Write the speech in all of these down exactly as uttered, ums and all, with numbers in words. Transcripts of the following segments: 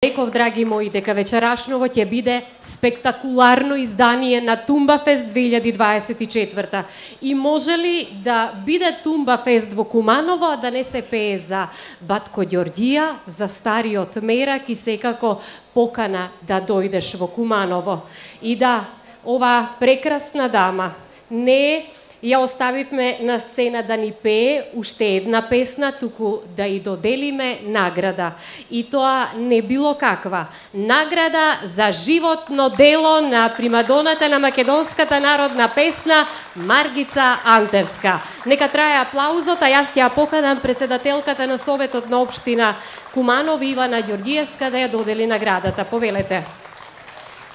Реков, драги мои, дека вечерашново ќе биде спектакуларно издание на Тумбафест две илјади дваесет и четврта. И може ли да биде Тумбафест во Куманово, а да не се пее за Батко Ѓорѓија, за стариот мерак и секако покана да дојдеш во Куманово. И да, ова прекрасна дама не ја оставивме на сцена да ни пее уште една песна, туку да и доделиме награда. И тоа не било каква. Награда за животно дело на примадоната на македонската народна песна Маргица Антевска. Нека трае аплаузот, а јас ќе ја поканам председателката на Советот на општина Куманово Ивана Ѓорѓиевска да ја додели наградата. Повелете.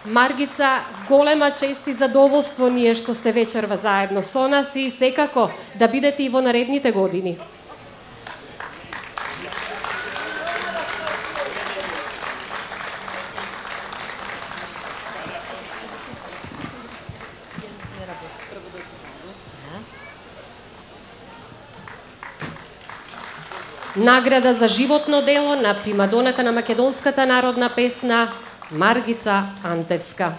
Маргица, голема чест и задоволство ние што сте вечерва заедно со нас и секако да бидете и во наредните години. Награда за животно дело на примадоната на македонската народна песна Маргица Антевска.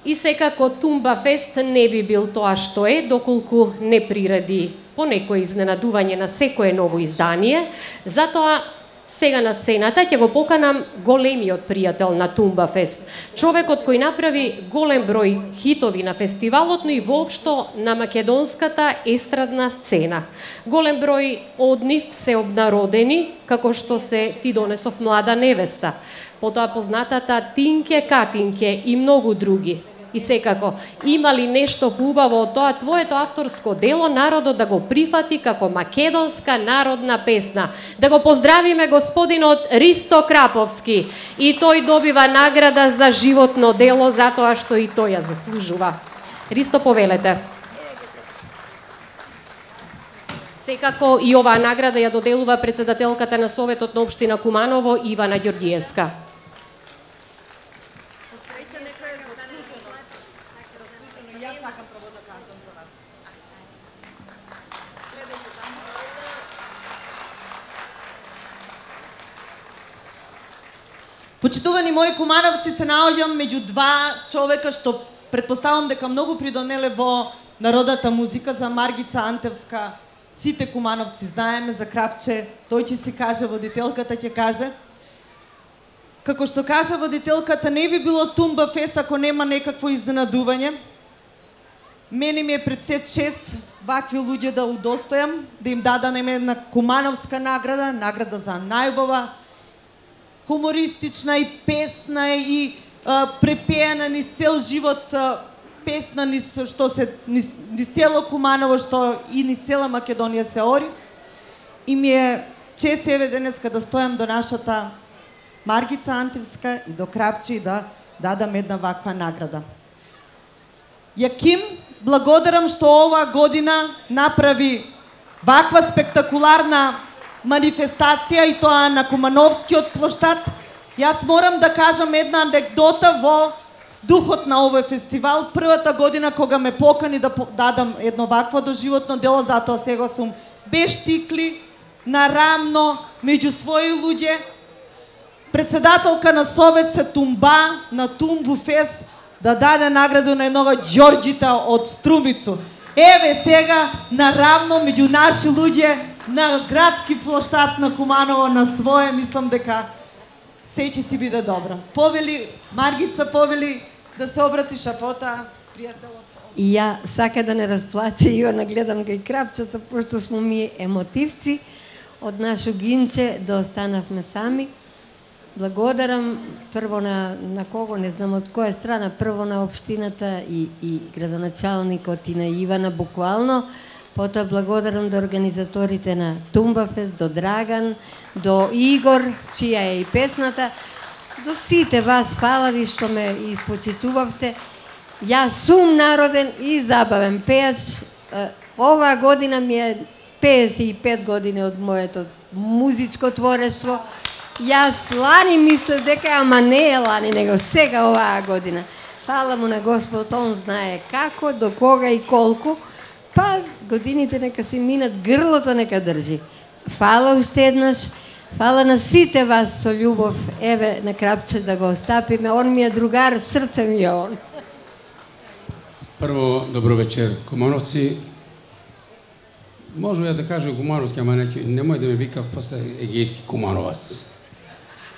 И секако Тумбафест не би бил тоа што е, доколку не приреди по некој изненадување на секое ново издание. Затоа сега на сцената ќе го поканам големиот пријател на Тумбафест, човекот кој направи голем број хитови на фестивалот, но и воопшто на македонската естрадна сцена. Голем број од нив се обнародени, како што се Ти донесов млада невеста, потоа познатата Тинке Катинке и многу други. И секако, има ли нешто убаво од тоа твоето авторско дело народот да го прифати како македонска народна песна? Да го поздравиме господинот Ристо Краповски. И тој добива награда за животно дело затоа што и тој ја заслужува. Ристо, повелете. Секако и оваа награда ја доделува председателката на Советот на општина Куманово Ивана Ѓорѓиевска. Почитувани мои кумановци, се наоѓам меѓу два човека што претпоставам дека многу придонеле во народната музика. За Маргица Антевска сите кумановци знаеме, за Крапче тој ќе си каже, водителката ќе каже. Како што кажа водителката, не би било Тумбафест ако нема некакво изненадување. Мене ми е пред се чест вакви луѓе да удостојам, да им дадам една кумановска награда, награда за најубава хумористична и песна и а, препеена низ цел живот а, песна низ што се низ, низ цело Куманово, што и низ цела Македонија се ори. И ми е чест еве денеска да стојам до нашата Маргица Антевска и до Крапче и да дадам една ваква награда. Јаким, благодарам што оваа година направи ваква спектакуларна манифестација и тоа на Кумановскиот плоштад. Јас морам да кажам една анекдота во духот на овој фестивал. Првата година кога ме покани да дадам едно вакво доживотно дело, затоа сега сум без тикли, нарамно, меѓу своји луѓе. Председателка на Совет се тумба на Тумбафест да даде награду на еднога Ѓорѓита од Струмицу. Еве сега нарамно меѓу наши луѓе на градски плоштад на Куманово на свое, мислам дека се ќе си биде добро. Повели, Маргица, повели да се обратиш, а потоа пријателот. И ја сака да не расплаче, Ивана, гледам кај Крапчето, пошто смо ми емотивци. Од нашо гинче да останавме сами. Благодарам прво на, на кого, не знам од која страна, прво на општината и, и градоначалникот и на Ивана буквално. Потоа благодарам до организаторите на Тумбафест, до Драган, до Игор, чија е и песната, до сите вас, фала ви што ме испочитувавте. Јас сум народен и забавен пејач. Оваа година ми е пеесет и пет години од моето музичко творештво. Јас лани мислев дека, ама не е лани, него сега оваа година. Фала му на Господ, он знае како, до кога и колку. Па годините нека си минат, грлото нека држи. фала уште еднаш. Фала на сите вас со љубов. Еве на Крапче да го остапиме. Он ми е другар, срце ми е он. Прво, добро вечер, Кумановци. Можу ја да кажу Кумановски, ама немој да ме викав после Егејски Кумановац.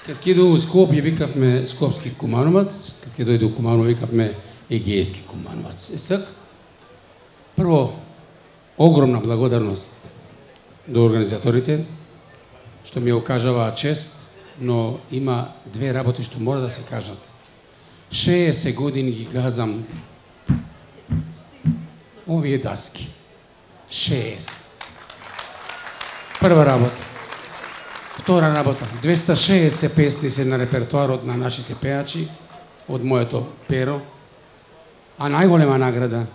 Кад ќе дојду у Скопје, викавме Скопски Кумановац, кад ќе дојду у Куманово, викавме Егејски Кумановац. Е сак, прво, огромна благодарност до организаторите, што ми окажаваа чест, но има две работи што мора да се кажат. шеесет години ги газам овие даски. шеесет. Прва работа. Втора работа. двеста шеесет песни се на репертуарот на нашите пеачи, од моето перо. А најголема награда,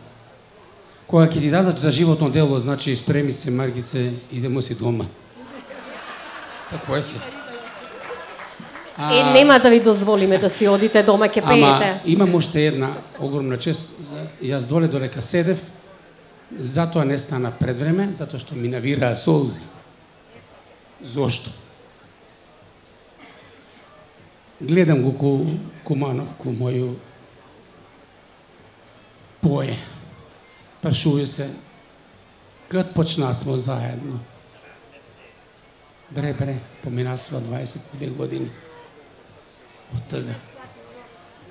која ќе ти дадат за животно дело, значи спреми се, Маргице, идемо си дома. Тако е си. А... Е, нема да ви дозволиме да си одите дома, ќе пеете. Ама имам уште една огромна чест. Јас доле додека седев, затоа не станав пред време, затоа што ми навираа солзи. Зошто? Гледам го ку Куманов, ку моју пое. Прашују се, кад почна смо заедно? Бре, бре, поминасва дваесет и две години. Од тога.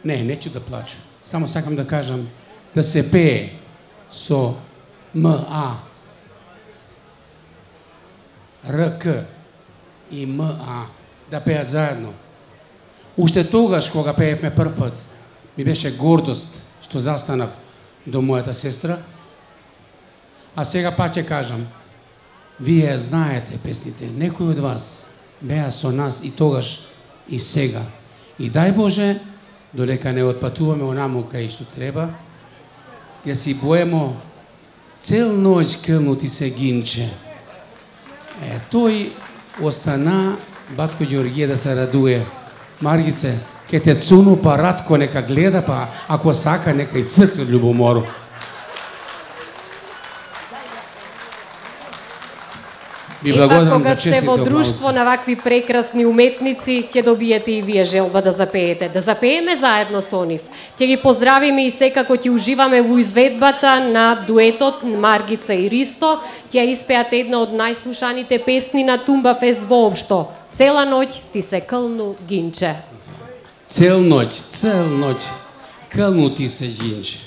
Не, неќу да плачу. Само сакам да кажам да се пее со М А, Р К и М А, да пеат заедно. Уште тогаш, кога пеевме прв пат, ми беше гордост што застанав до мојата сестра. А сега па ќе кажам, вие знаете песните, некои од вас беа со нас и тогаш и сега. И дај Боже, додека не отпатуваме онаму кај што треба, ќе си боемо цел ноќ кълнути се гинче. Е, тој остана, батко Ѓорѓе да се радуе. Маргице, ке те цуну, па Радко нека гледа, па ако сака нека и цркне љубомору. И пак кога сте во друштво на вакви прекрасни уметници, ќе добиете и вие желба да запеете. Да запееме заедно со нив. Ќе ги поздравиме и секако ќе уживаме во изведбата на дуетот Маргица и Ристо. Ќе испеат една од најслушаните песни на Тумба Фест воопшто. Цела ноќ ти се кълну гинче. Цел ноќ, цел ноќ, кълну ти се гинче.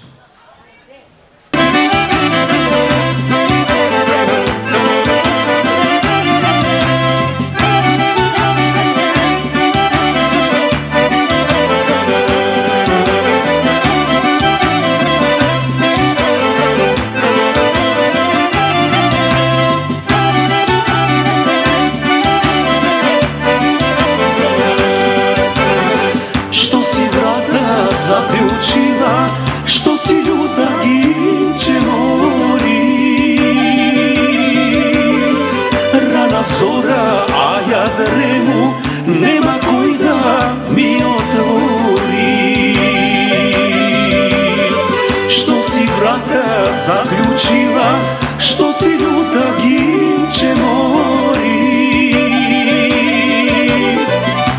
Што си љута гинче мори, рана зора, а ја дрему, нема кој да ми отвори. Што си врата заклучила, што си љута гинче мори,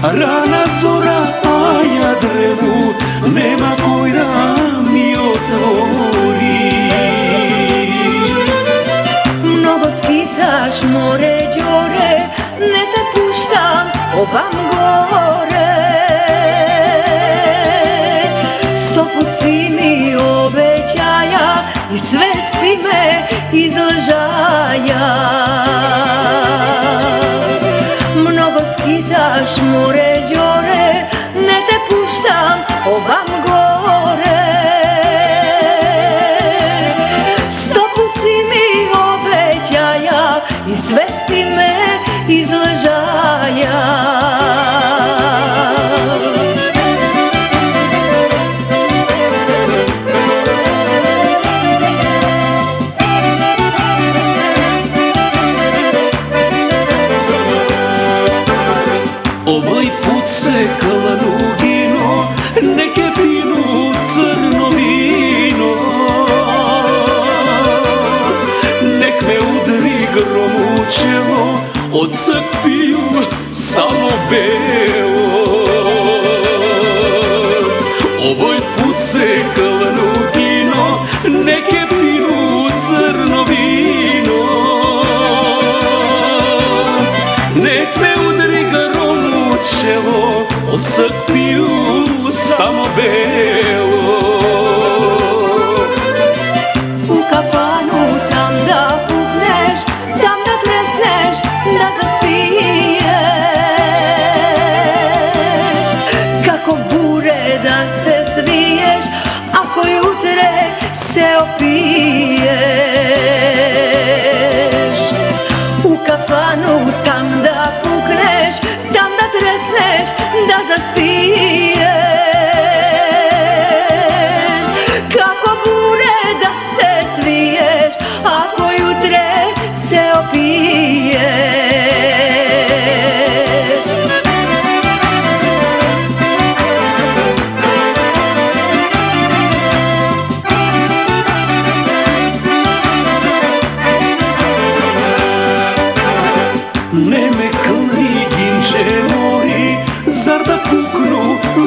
рана зора, а ја дрему, нема кој да ми отвори. Mnogo skitaš more ѓоре, не те пуштам овам горе. Сто пут си ми обеќаја и све си ме излжаја. Mnogo skitaš more ѓоре, не те пуштам овам горе. Сто пут си ми обеќаја и све си ме излжаја. Овој пут се кълну гино, не ке пину црно вино. Нек ме удри гром у чело, belo. Ovoj put se kalanugino, neke piju crno vino. Nek me udri garom u čelo, od sad piju samo belo. U kafanu tam da pukneš, tam da tresneš, da zaspiješ. Kako bure da se sviješ, ako jutre se opiješ. U kafanu tam da pukneš, tam da tresneš, da zaspiješ. Kako bure da se sviješ, ako jutre se opiješ. Ne me kълни гинче мори, zar da puknu,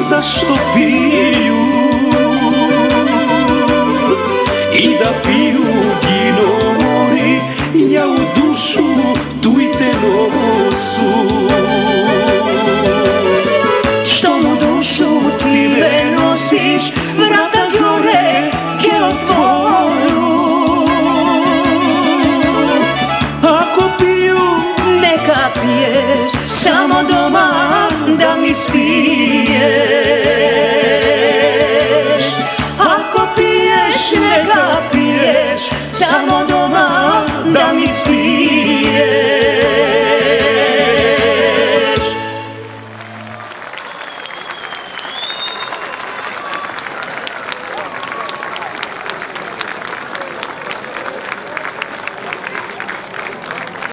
zašto piju? I da piju gino mori, ja u dušu tu i te nosu. Što mu dušu ti me nosiš, vrata gore ke otvoru. Ako piju, Neka piješ, samo doma da mi spiš.